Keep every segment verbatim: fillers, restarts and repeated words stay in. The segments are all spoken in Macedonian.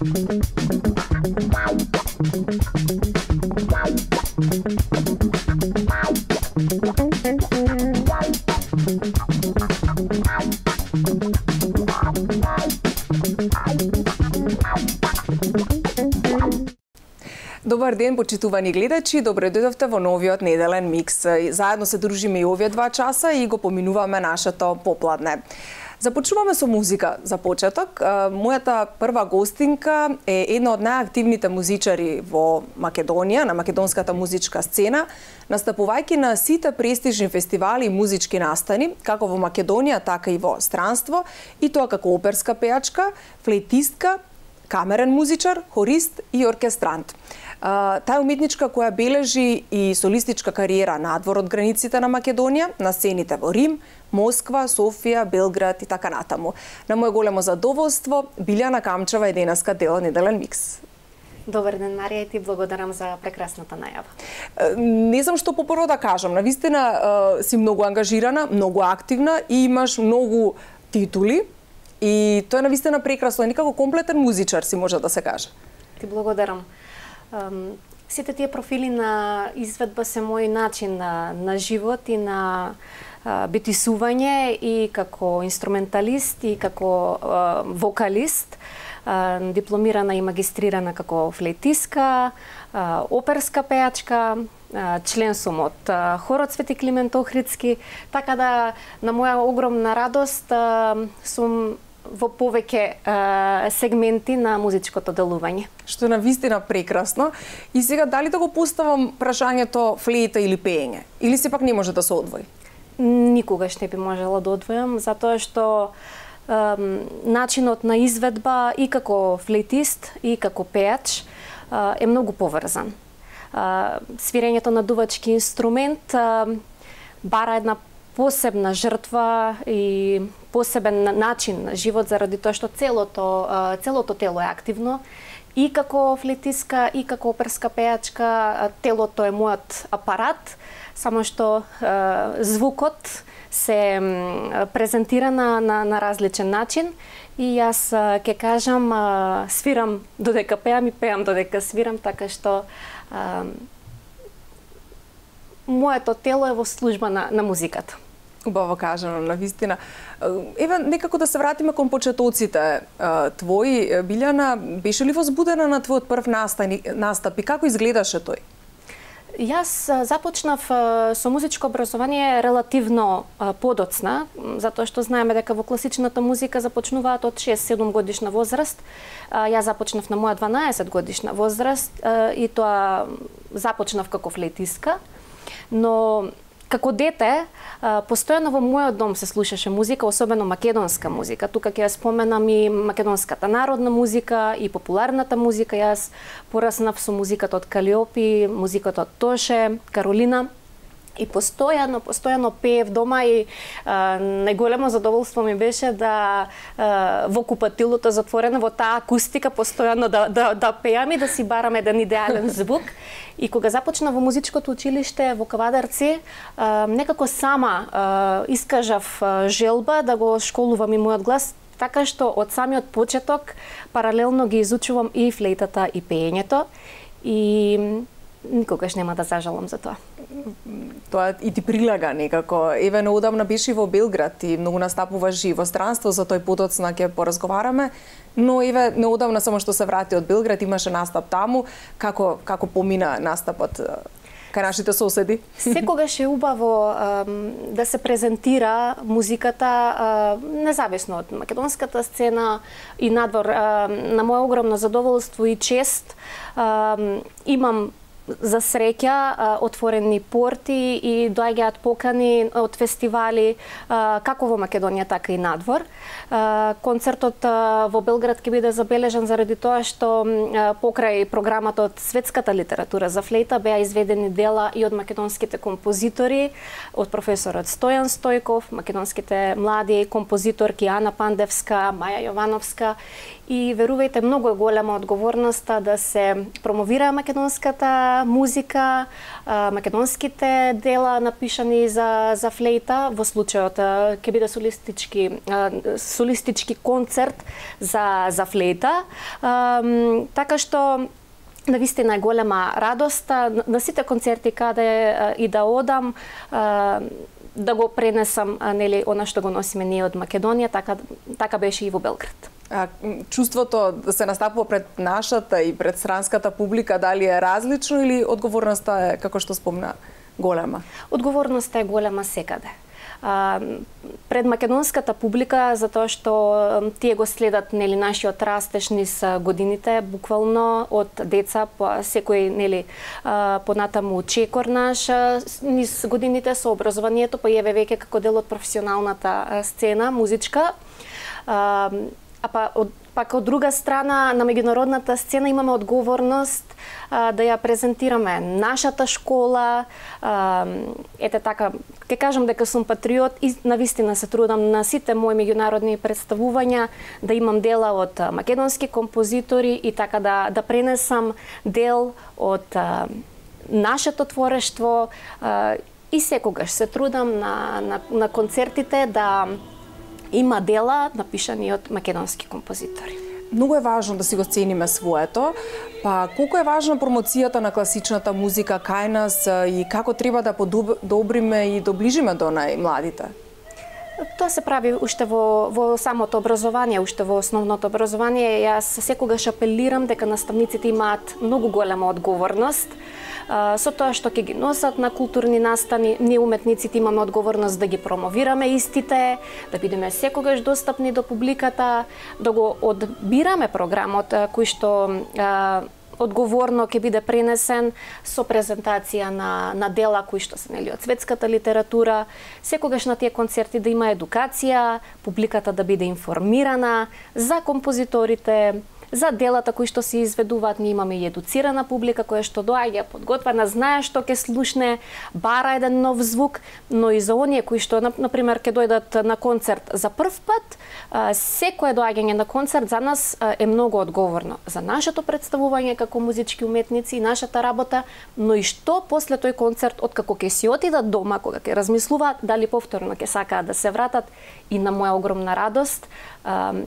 Добар ден, почитувани гледачи, добре дојдовте во новиот неделен микс. Заедно се дружиме и овие два часа и го поминуваме нашето попладне. Започнуваме со музика за почеток. Мојата прва гостинка е една од најактивните музичари во Македонија, на македонската музичка сцена, настапувајќи на сите престижни фестивали и музички настани, како во Македонија, така и во странство, и тоа како оперска пејачка, флейтистка, камерен музичар, хорист и оркестрант. Таа уметничка која бележи и солистичка кариера надвор од границите на Македонија, на сцените во Рим, Москва, Софија, Белград и така натаму. На моје големо задоволство, Билјана Камчева е денеска дел од неделен микс. Добар ден, Марија, и ти благодарам за прекрасната најава. Не знам што попрво да кажам. Навистина си многу ангажирана, многу активна и имаш многу титули. И тоа е навистина прекрасно, некако комплетен музичар си може да се каже. Ти благодарам. Um, сите тие профили на изведба се мој начин на, на живот и на uh, битисување и како инструменталист и како uh, вокалист, uh, дипломирана и магистрирана како флейтистка, uh, оперска пејачка, uh, член сум од uh, хорот Свети Климент Охридски, така да на моја огромна радост uh, сум во повеќе е, сегменти на музичкото делување. Што е навистина прекрасно. И сега дали да го поставам прашањето флейта или пеење? Или сепак не може да се одвои? Никогаш не би можела да одвојам, затоа што е, начинот на изведба и како флейтист и како пејач е, е многу поврзан. Е, свирењето на дувачки инструмент е, бара една посебна жртва и посебен начин на живот заради тоа што целото целото тело е активно и како флейтистка и како оперска пејачка. Телото е мојот апарат, само што е, звукот се презентира на, на, на различен начин и јас ќе кажам е, свирам додека пеам и пеам додека свирам, така што е, моето тело е во служба на, на музиката. Убаво кажано, навистина. Еве, некако да се вратиме кон почетоците твои. Билјана, беше ли возбудена на твојот прв настап и како изгледаше тој? Јас започнав со музичко образование релативно подоцна, затоа што знаеме дека во класичната музика започнуваат од шест-седум годишна возраст. Јас започнав на моја дванаесет годишна возраст и тоа започнав како флейтистка, но како дете, постојано во мојот дом се слушаше музика, особено македонска музика. Тука ќе ја споменам и македонската народна музика и популарната музика. Јас пораснав со музиката од Калиопи, музиката од Тоше, Каролина. И постојано, постојано пеев дома и а, најголемо задоволство ми беше да а, во купатилото затворено во таа акустика постојано да, да, да пеам и да си барам еден идеален звук. И кога започна во музичкото училиште во Кавадарци, а, некако сама а, искажав а, желба да го школувам и мојот глас, така што од самиот почеток паралелно ги изучувам и флейтата и пеењето и никогаш нема да зажалам за тоа. Тоа и ти прилага некако. Еве, неодамна беше во Белград и многу настапуваш и во странство, за тој подоцна ќе поразговараме, но еве, неодамна само што се врати од Белград, имаше настап таму. Како, како помина настапот кај нашите соседи? Секогаш е убаво а, да се презентира музиката а, независно од македонската сцена и надвор. А, на моје огромно задоволство и чест а, имам за среќа отворени порти и доаѓаат покани од фестивали како во Македонија, така и надвор. Концертот во Белград ќе биде забележан заради тоа што покрај програмата од светската литература за флейта беа изведени дела и од македонските композитори, од професорот Стојан Стојков, македонските млади композиторки Ана Пандевска, Маја Јовановска и верувајте, многу е голема одговорноста да се промовира македонската музика, македонските дела напишани за за флейта, во случајот ќе биде солистички солистички концерт за за флейта. Така што навистина е голема радост на сите концерти каде и да одам, да го пренесам, нели, она што го носиме ние од Македонија, така така беше и во Белград. А, чувството да се настапува пред нашата и пред странската публика, дали е различно или одговорноста е, како што спомна, голема? Одговорноста е голема секаде. А, пред македонската публика, затоа што тие го следат, нели, нашиот растеж низ годините, буквално од деца по секој, нели, понатаму чекор наш низ годините со образованието, па еве веќе како дел од професионалната сцена музичка. А, а па од пак од друга страна на меѓународната сцена имаме одговорност а, да ја презентираме нашата школа. А, ете така, ќе кажам дека сум патриот и навистина се трудам на сите мои меѓународни представувања да имам дела од македонски композитори и така да да пренесам дел од а, нашето творештво, а, и секогаш се трудам на на, на концертите да има дела напишани од македонски композитори. Многу е важно да си го цениме своето, па колку е важна промоцијата на класичната музика кај нас и како треба да подобриме и доближиме до најмладите? Тоа се прави уште во, во самото образование, уште во основното образование. Јас секогаш апелирам дека наставниците имаат многу голема одговорност со тоа што ќе ги носат на културни настани. Ние уметниците имаме одговорност да ги промовираме истите, да бидеме секогаш достапни до публиката, да го одбираме програмот кој што а, одговорно ќе биде пренесен со презентација на, на дела кои што се, нели, од светската литература. Секогаш на тие концерти да има едукација, публиката да биде информирана за композиторите, за делата кои што се изведуваат. Ние имаме и едуцирана публика која што доаѓа подготвена, знае што ќе слушне, бара еден нов звук, но и за оние кои што, на пример, ќе дојдат на концерт за прв пат, секое доаѓање на концерт за нас е многу одговорно за нашето представување како музички уметници и нашата работа, но и што после тој концерт, откако ќе си отидат дома, кога ќе размислуваат дали повторно ќе сакаат да се вратат. И на моја огромна радост,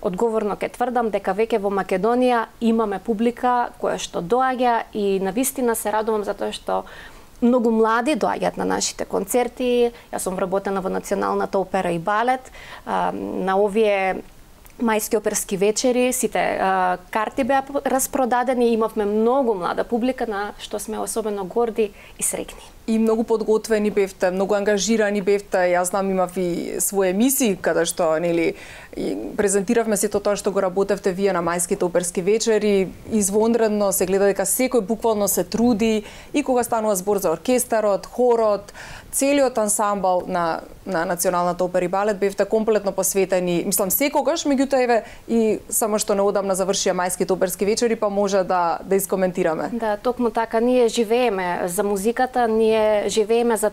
одговорно ќе тврдам дека веќе во Македонија имаме публика која што доаѓа и навистина се радувам затоа што многу млади доаѓаат на нашите концерти. Јас сум вработена во Националната опера и балет. На овие мајски оперски вечери сите а, карти беа распродадени и имавме многу млада публика на што сме особено горди и среќни. И многу подготвени бевте, многу ангажирани бевте. Јас знам, имав и своји емисии каде што, нели, презентиравме сето тоа што го работевте вие на мајските оперски вечери. Извонредно се гледа дека секој буквално се труди и кога станува збор за оркестарот, хорот, целиот ансамбл на на Националната опера и балет бевте комплетно посветени. Мислам секогаш, меѓутоа еве и само што неодамна завршија мајските оперски вечери, па може да да искоментираме. Да, токму така, ние живееме за музиката, ние живееме за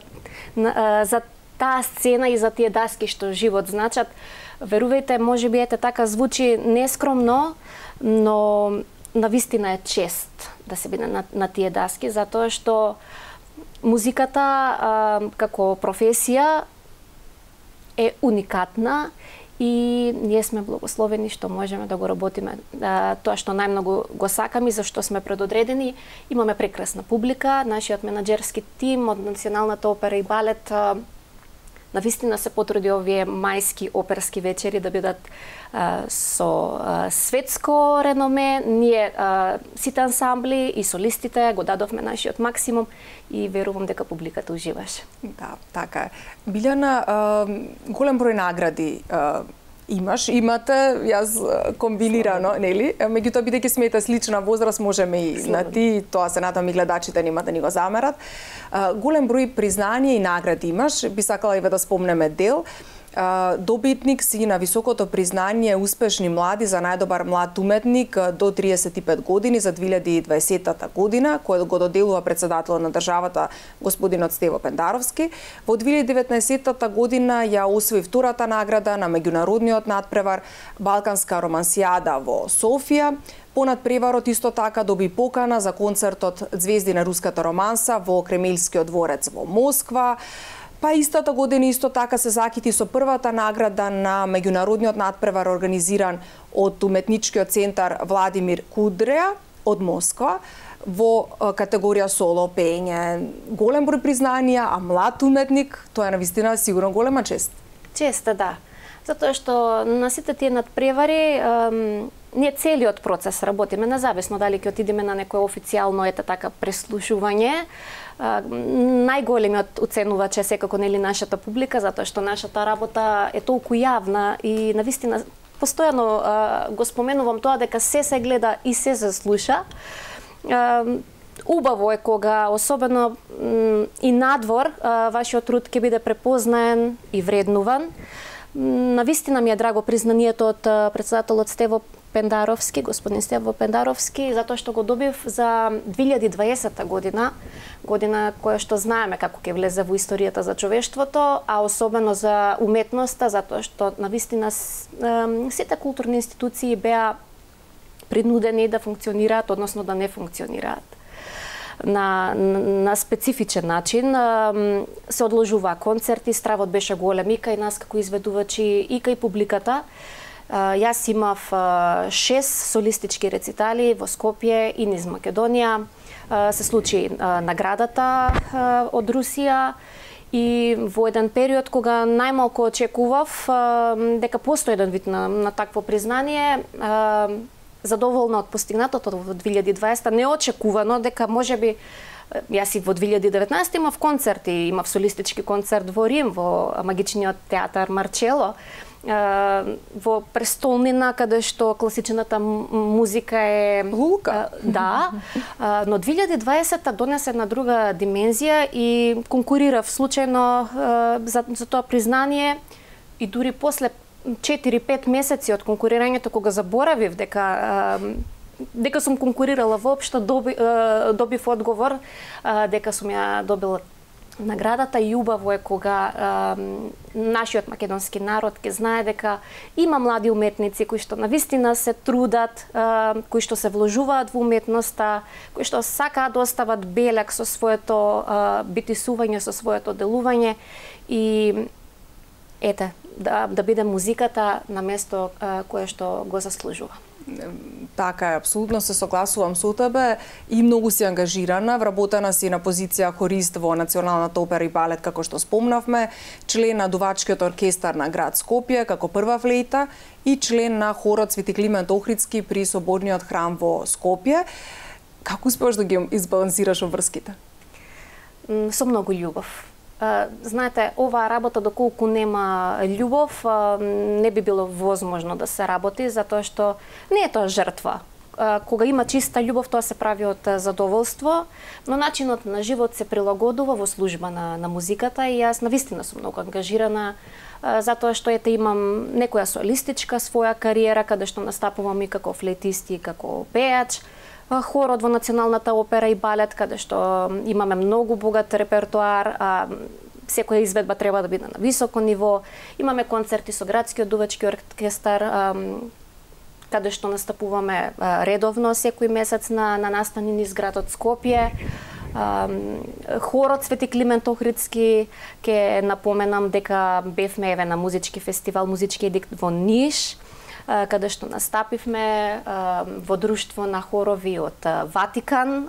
за таа сцена и за тие даски што живот значат. Верувајте, можеби ете така звучи нескромно, но навистина е чест да се биде на, на тие даски, затоа што музиката а, како професија е уникатна и ние сме благословени што можеме да го работиме а, тоа што најмногу го сакаме и за што сме предодредени. Имаме прекрасна публика, нашиот менаџерски тим од Националната опера и балет а, навистина се потруди овие мајски оперски вечери да бидат а, со а, светско реноме. Ние а, сите ансамбли и солистите го дадовме нашиот максимум и верувам дека публиката уживаше. Да, така е. Билјана, а, голем број награди а, имаш, имате, јас комбинирано, нели? Меѓутоа, бидејќи смете слична возраст, можеме и на ти, тоа се надам и гледачите нема да ни го замерат. А, голем број признание и награди имаш, би сакала и да спомнеме дел. Добитник си на високото признание Успешни млади за најдобар млад уметник до триесет и пет години за две илјади и дваесета година, кој го доделува председателот на државата господинот Стево Пендаровски. Во две илјади и деветнаесета година ја освои втората награда на меѓународниот надпревар Балканска романсијада во Софија. По надпреварот исто така доби покана за концертот Звезди на руската романса во Кремелскиот дворец во Москва. Па истата година исто така се закити со првата награда на меѓународниот надпревар организиран од Уметничкиот центар Владимир Кудреа од Москва во категорија соло пеење. Голем број признанија, а млад уметник, тоа е навистина сигурно голема чест. Чест, да. Затоа што на сите тие надпревари ем, ние целиот процес работиме, независно дали ќе отидеме на некое официјално ете така преслушување. Најголемиот оценувач е секако нели нашата публика, затоа што нашата работа е толку јавна и навистина постојано а, го споменувам тоа дека се се гледа и се се слуша. А, убаво е кога особено и надвор а, вашиот труд ќе биде препознаен и вреднуван. Навистина ми е драго признанието од председателот Стево Пендаровски, господин Стево Пендаровски, затоа што го добив за две илјади и дваесета година, година која што знаеме како ќе влезе во историјата за човештвото, а особено за уметноста, затоа што навистина сите културни институции беа принудени да функционираат, односно да не функционираат на, на специфичен начин. Се одложуваа концерти, стравот беше голем и кај нас како изведувачи и кај публиката. Јас имав шест солистички рецитали во Скопје и низ Македонија. Се случи наградата од Русија и во еден период кога најмалку очекував дека постои еден вид на, на такво признание, задоволна од постигнатото во две илјади и дваесета, неочекувано дека можеби јас и во две илјади и деветнаесета имав концерти, имав солистички концерт во Рим, во магичниот театар Марчело, во престолнина каде што класичната музика е лука. Да, но две илјади и дваесета донесе една друга димензија и конкурирав случајно за, за тоа признание и дури после четири-пет месеци од конкурирањето кога заборавив дека дека сум конкурирала воопшто, доби, добив одговор дека сум ја добила наградата и убаво е кога а, нашиот македонски народ ќе знае дека има млади уметници кои што навистина се трудат, а, кои што се вложуваат во уметноста, кои што сакаат да остават белег со своето а, битисување, со своето делување и ете, да, да биде музиката на место а, кое што го заслужува. Така е, апсолутно се согласувам со тебе и многу си ангажирана, вработена си на позиција хорист во Националната опера и балет, како што спомнавме, член на дувачкиот оркестар на град Скопје, како прва флейта и член на хорот Свети Климент Охридски при Соборниот храм во Скопје. Како успеаш да ги избалансираш обврските? Со многу љубов. Знаете, оваа работа доколку нема љубов, не би било возможно да се работи, затоа што не е тоа жртва. Кога има чиста љубов, тоа се прави од задоволство, но начинот на живот се прилагодува во служба на, на музиката и јас навистина сум многу ангажирана, затоа што ете имам некоја солистичка своја кариера, каде што настапувам и како флейтист и како пејач, хорот во Националната опера и балет, каде што имаме многу богат репертоар, а секоја изведба треба да биде на високо ниво. Имаме концерти со градскиот дувачки оркестар, каде што настапуваме редовно секој месец на, на настани низ градот Скопје. Хорот Свети Климент Охридски, ке напоменам дека бевме еве на музички фестивал, музички едикт во Ниш, каде што настапивме во друштво на хорови од Ватикан,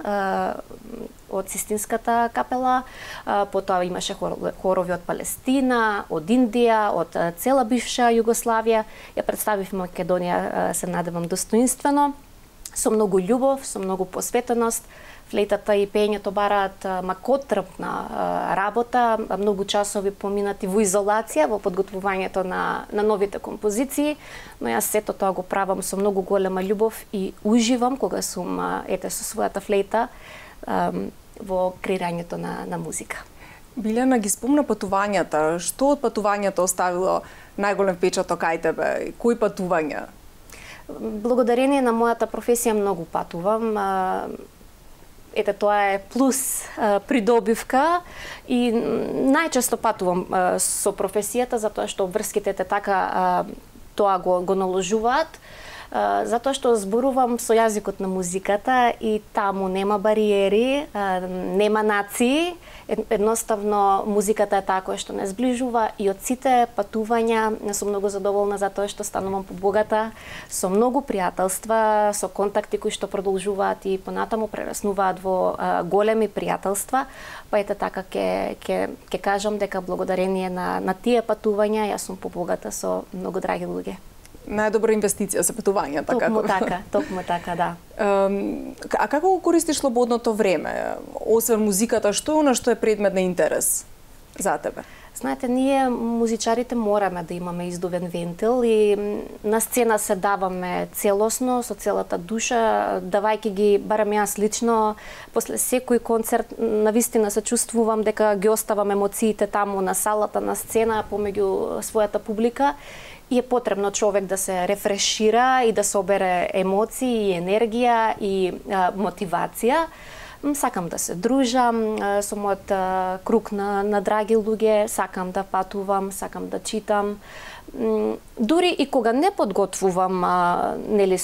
од Систинската капела, потоа имаше хорови од Палестина, од Индија, од цела бивша Југославија. Ја представивме Македонија, се надевам, достоинствено, со многу љубов, со многу посветеност. Флейтата и пеењето бараат макотрпна работа, многу часови поминати во изолација, во подготвувањето на, на новите композиции, но јас сето тоа го правам со многу голема љубов и уживам кога сум ете со својата флейта во креирањето на, на музика. Билјана ги спомна патувањата. Што од патувањата оставило најголем впечаток кај тебе? Кои патувања? Благодарение на мојата професија многу патувам. Ете, тоа е плюс придобивка и најчесто патувам со професијата затоа што врските те така тоа го, го наложуваат. Затоа што зборувам со јазикот на музиката и таму нема бариери, нема нации, едноставно музиката е таа која што не зближува и од сите патувања не сум многу задоволна затоа што станувам побогата со многу пријателства, со контакти кои што продолжуваат и понатаму прераснуваат во големи пријателства. Па ете така ќе ќе ќе кажам дека благодарение на на тие патувања јас сум побогата со многу драги луѓе. Најдобра инвестиција за патување, така? Токму така, токму така, да. А како го користиш слободното време? Освен музиката, што е она што е предмет на интерес за тебе? Знаете, ние музичарите мораме да имаме издувен вентил и на сцена се даваме целосно, со целата душа, давајќи ги, барам јас лично, после секој концерт, навистина се чувствувам дека ги оставам емоциите таму на салата, на сцена, помеѓу својата публика. И е потребно човек да се рефрешира и да собере емоции, и енергија и а, мотивација. Сакам да се дружам а, со мојот а, круг на, на драги луѓе, сакам да патувам, сакам да читам. М, дури и кога не подготвувам а, нели,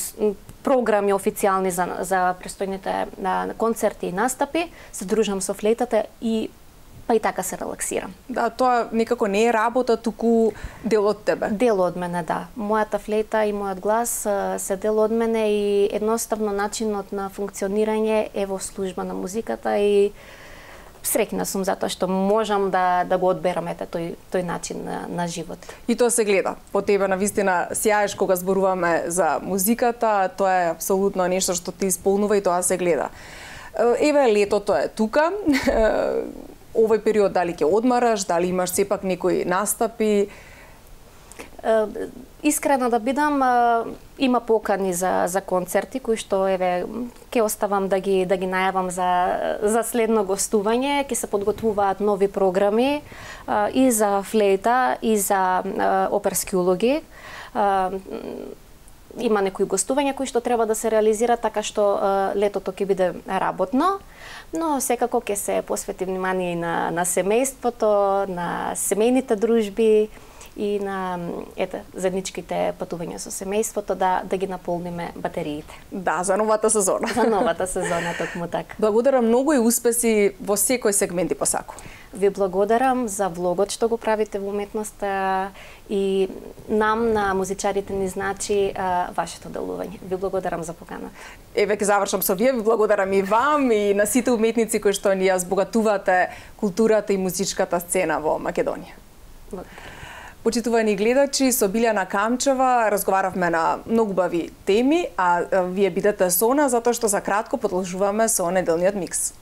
програми официјални за, за престојните а, концерти и настапи, се дружам со флейтата и па и така се релаксирам. Да, тоа некако не е работа, туку дел од тебе. Дел од мене, да. Мојата флейта и мојот глас се дел од мене и едноставно начинот на функционирање е во служба на музиката и среќна сум затоа што можам да да го одберам ете тој тој начин на, на живот. И тоа се гледа. По тебе навистина сјаеш кога зборуваме за музиката, тоа е апсолутно нешто што ти исполнува и тоа се гледа. Еве летото е тука. Овој период дали ќе одмараш, дали имаш сепак некои настапи? Искрена да бидам, има покани за за концерти кои што еве ќе оставам да ги да ги најавам за за следно гостување, ќе се подготвуваат нови програми и за флейта и за оперски улоги. Има некои гостувања кои што треба да се реализира, така што летото ќе биде работно. Но секако ќе се посвети внимание и на, на семејството, на семејните дружби и на ете, заедничките патувања со семејството, да, да ги наполниме батериите. Да, за новата сезона. За новата сезона, токму така. Благодарам многу и успеси во секој сегмент и посаку. Ви благодарам за влогот што го правите во уметноста и нам на музичарите ни значи а, вашето делување. Ви благодарам за поканата. Еве ќе завршам со вие, ви благодарам и вам и на сите уметници кои што ни ја збогатувате културата и музичката сцена во Македонија. Благодарам. Почитувани гледачи, со Билјана Камчева разговаравме на многу бави теми, а вие бидете со нас затоа што за кратко продолжуваме со неделниот микс.